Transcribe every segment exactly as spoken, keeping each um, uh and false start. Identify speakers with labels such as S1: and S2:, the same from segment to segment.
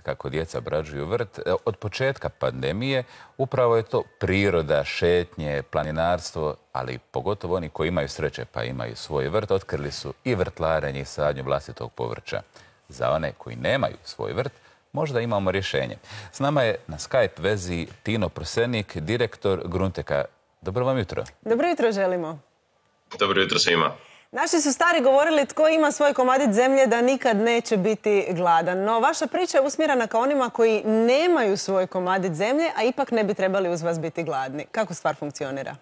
S1: kako djeca obrađuju vrt. Od početka pandemije upravo je to priroda, šetnje, planinarstvo, ali pogotovo oni koji imaju sreće pa imaju svoj vrt, otkrili su i vrtlarenje i sadnju vlastitog povrća. Za one koji nemaju svoj vrt, možda imamo rješenje. S nama je na Skype vezi Tino Prosenik, direktor Grunteka. Dobro vam jutro.
S2: Dobro jutro želimo.
S3: Dobro jutro svima.
S2: Naši su stari govorili tko ima svoj komadić zemlje da nikad neće biti gladan. No, vaša priča je usmjerena ka onima koji nemaju svoj komadić zemlje, a ipak ne bi trebali uz vas biti gladni. Kako stvar funkcionira?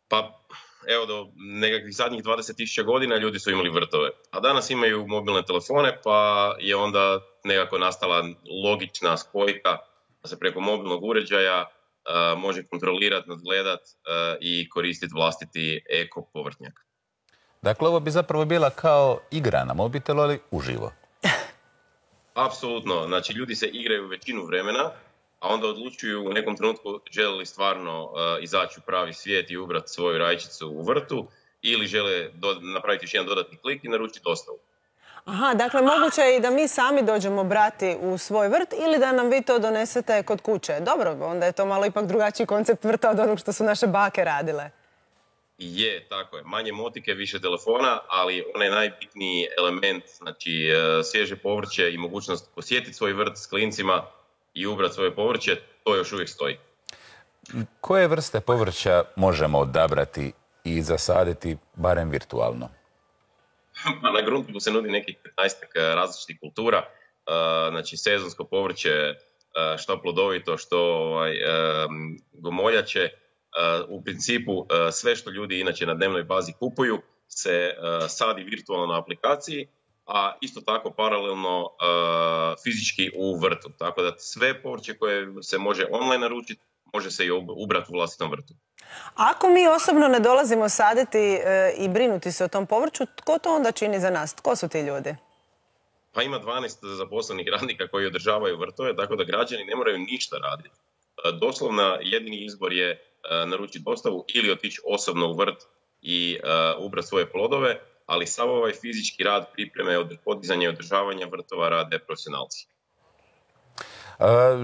S3: Pa, evo, do nekakvih zadnjih dvadeset tisuća godina ljudi su imali vrtove. A danas imaju mobilne telefone, pa je onda nekako nastala logična spojka da se preko mobilnog uređaja uh, može kontrolirati, nadgledat uh, i koristiti vlastiti eko povrtnjak.
S1: Dakle, ovo bi zapravo bila kao igra na mobitelu, ali uživo.
S3: Apsolutno. Znači, ljudi se igraju većinu vremena, a onda odlučuju u nekom trenutku žele li stvarno uh, izaći u pravi svijet i ubrati svoju rajčicu u vrtu ili žele do, napraviti još jedan dodatni klik i naručiti dostavu.
S2: Aha, dakle, moguće je i da mi sami dođemo brati u svoj vrt ili da nam vi to donesete kod kuće. Dobro, onda je to malo ipak drugačiji koncept vrta od onog što su naše bake radile.
S3: Je, tako je. Manje motike, više telefona, ali onaj najbitniji element, znači svježe povrće i mogućnost posjetiti svoj vrt s klincima i ubrati svoje povrće, to još uvijek stoji.
S1: Koje vrste povrća možemo odabrati i zasaditi barem virtualno?
S3: Na Gruntu se nudi nekih petnaestak različitih kultura, znači sezonsko povrće, što plodovito, što ovaj, gomoljače. U principu sve što ljudi inače na dnevnoj bazi kupuju se sadi virtualno na aplikaciji, a isto tako paralelno fizički u vrtu. Tako da sve povrće koje se može online naručiti, može se i ubrati u vlastitom vrtu.
S2: Ako mi osobno ne dolazimo saditi i brinuti se o tom povrću, tko to onda čini za nas? Tko su ti ljudi?
S3: Pa ima dvanaest zaposlenih radnika koji održavaju vrtove, tako da građani ne moraju ništa raditi. Doslovno jedini izbor je naručiti dostavu ili otići osobno u vrt i uh, ubrati svoje plodove, ali sav ovaj fizički rad, pripreme, podizanje i održavanja vrtova rade profesionalci.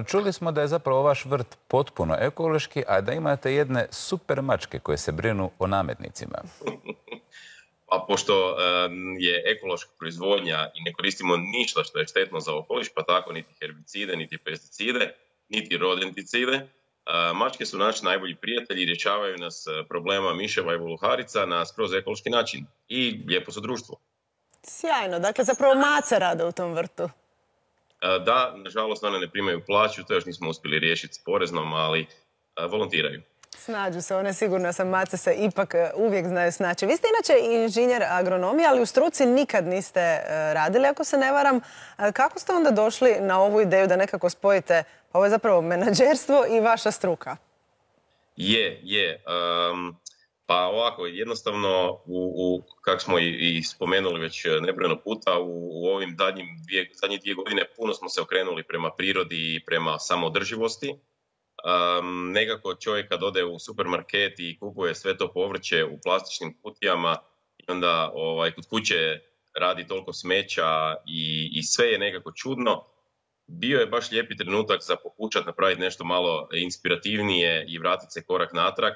S1: Čuli smo da je zapravo vaš vrt potpuno ekološki, a da imate jedne super mačke koje se brinu o nametnicima.
S3: Pa pošto uh, je ekološka proizvodnja i ne koristimo ništa što je štetno za okoliš, pa tako niti herbicide, niti pesticide, niti rodenticide, mačke su naši najbolji prijatelji i rješavaju nas problema miševa i voluharica na skroz ekološki način. I lijepo su društvo.
S2: Sjajno. Dakle, zapravo mace rade u tom vrtu.
S3: Da, nažalost, one ne primaju plaću, to još nismo uspjeli riješiti s poreznom, ali volontiraju.
S2: Snađu se, one sigurno sam, mace se ipak uvijek znaju snaći. Vi ste inače inženjer agronomije, ali u struci nikad niste radili, ako se ne varam. Kako ste onda došli na ovu ideju da nekako spojite, ovo je zapravo menadžerstvo i vaša struka? Je,
S3: je. Um, pa ovako, jednostavno, u, u, kako smo i, i spomenuli već nebrojeno puta, u, u ovim zadnjim dvije, zadnjih dvije godine puno smo se okrenuli prema prirodi i prema samoodrživosti. Um, nekako čovjek kad ode u supermarket i kupuje sve to povrće u plastičnim kutijama i onda ovaj, kod kuće radi toliko smeća i, i sve je nekako čudno. Bio je baš lijepi trenutak za pokušati napraviti nešto malo inspirativnije i vratiti se korak natrag,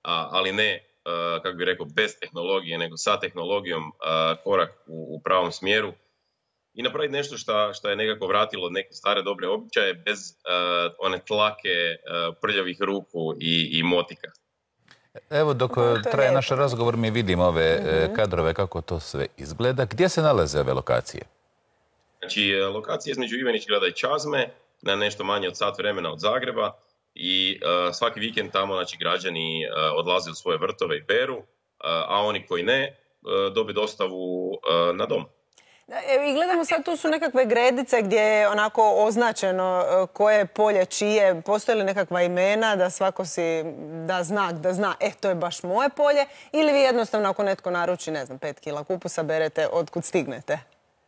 S3: a, ali ne, uh, kako bih rekao, bez tehnologije, nego sa tehnologijom uh, korak u, u pravom smjeru. I napraviti nešto što, što je nekako vratilo neke stare dobre običaje bez uh, one tlake uh, prljavih ruku i, i motika.
S1: Evo dok traje naš razgovor mi vidimo ove mm-hmm. kadrove kako to sve izgleda. Gdje se nalaze ove lokacije?
S3: Znači, lokacije između Ivanić-Grada i Čazme, na nešto manje od sat vremena od Zagreba i uh, svaki vikend tamo znači, građani uh, odlaze u svoje vrtove i beru, uh, a oni koji ne uh, dobe dostavu uh, na dom.
S2: I gledamo sad, tu su nekakve gredice gdje je onako označeno koje je polje čije, postoje li nekakva imena da svako si da znak, da zna, e, to je baš moje polje, ili vi jednostavno ako netko naruči, ne znam, pet kila kupusa berete otkud stignete?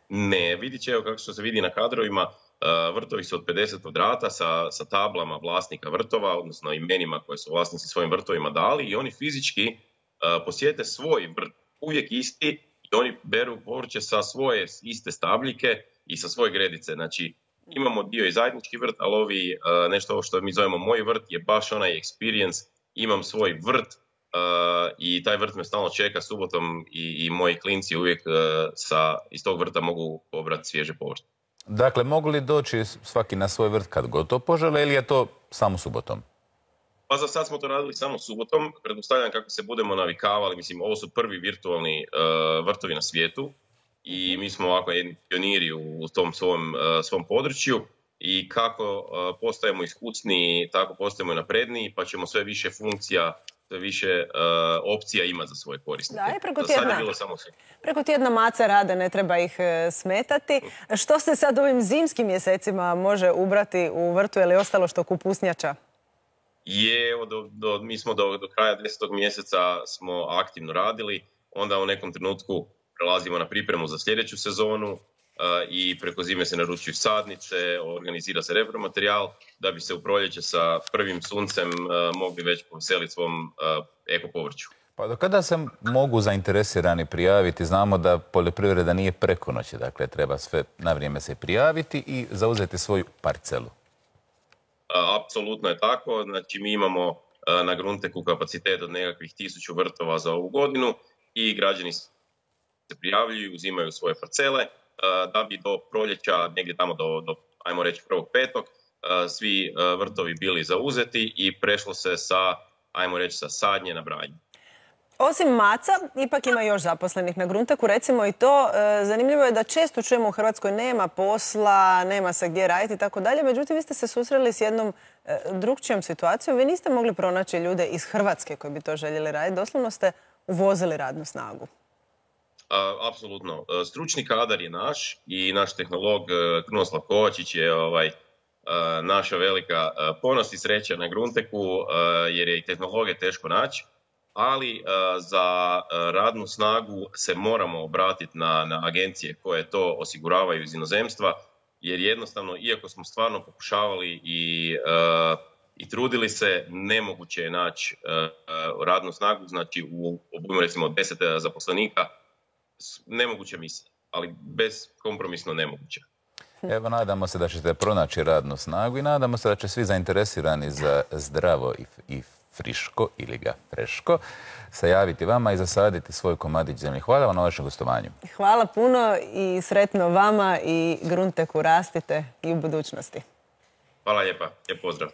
S3: Ne, vidit će, evo kako što se vidi na kadrovima, vrtovi su od pedeset kvadrata sa, sa tablama vlasnika vrtova, odnosno imenima koje su vlasnici svojim vrtovima dali i oni fizički uh, posjete svoj vrt, uvijek isti, i oni beru povrće sa svoje iste stabljike i sa svoje gredice. Znači, imamo dio i zajednički vrt, ali ovi, nešto ovo što mi zovemo moj vrt je baš onaj experience. Imam svoj vrt i taj vrt me stalno čeka subotom i, i moji klinci uvijek sa, iz tog vrta mogu pobrati svježe povrće.
S1: Dakle, mogu li doći svaki na svoj vrt kad god to požele ili je to samo subotom?
S3: Pa za sad smo to radili samo subotom. Pretpostavljam kako se budemo navikavali. Mislim, ovo su prvi virtualni uh, vrtovi na svijetu i mi smo ovako jedni pioniri u tom svom, uh, svom području i kako uh, postajemo iskusniji, tako postajemo napredniji, pa ćemo sve više funkcija, sve više uh, opcija ima za svoje korisnike.
S2: Da, i preko tjedna,
S3: sad je bilo samo sve.
S2: Preko tjedna maca rade, ne treba ih uh, smetati. Što se sad ovim zimskim mjesecima može ubrati u vrtu ili ostalo što kupusnjača?
S3: Je, evo, do, do, mi smo do, do kraja desetog mjeseca smo aktivno radili, onda u nekom trenutku prelazimo na pripremu za sljedeću sezonu uh, i preko zime se naručuju sadnice, organizira se repromaterijal da bi se u proljeće sa prvim suncem uh, mogli već poveseliti svom uh, eko povrću.
S1: Pa do kada se mogu zainteresirani prijaviti? Znamo da poljoprivreda nije preko noći, dakle treba sve na vrijeme se prijaviti i zauzeti svoju parcelu.
S3: Apsolutno je tako, znači mi imamo na Grunteku kapacitet od nekakvih tisuću vrtova za ovu godinu i građani se prijavljuju, uzimaju svoje parcele da bi do proljeća, negdje tamo do, do ajmo reći prvog petog, svi vrtovi bili zauzeti i prešlo se sa, ajmo reći, sa sadnje na branje.
S2: Osim maca, ipak ima još zaposlenih na Grunteku, recimo i to. Zanimljivo je da često čujemo u Hrvatskoj nema posla, nema se gdje raditi i tako dalje. Međutim, vi ste se susreli s jednom drugčijom situacijom. Vi niste mogli pronaći ljude iz Hrvatske koji bi to željeli raditi. Doslovno ste uvozili radnu snagu.
S3: Apsolutno. Stručni kadar je naš i naš tehnolog Krunoslav Kovačić je ovaj, naša velika ponos i sreća na Grunteku jer je i tehnologe teško naći. Ali uh, za uh, radnu snagu se moramo obratiti na, na agencije koje to osiguravaju iz inozemstva, jer jednostavno, iako smo stvarno pokušavali i, uh, i trudili se, nemoguće je naći uh, radnu snagu, znači u obujmu recimo deset zaposlenika, nemoguća misija, ali bezkompromisno nemoguće.
S1: Evo, nadamo se da ćete pronaći radnu snagu i nadamo se da će svi zainteresirani za zdravo i, i friško ili ga freško se javiti vama i zasaditi svoj komadić zemlje. Hvala vam na vašem gostovanju.
S2: Hvala puno i sretno vama i Grunteku rastite i u budućnosti.
S3: Hvala lijepa. Lijep pozdrav.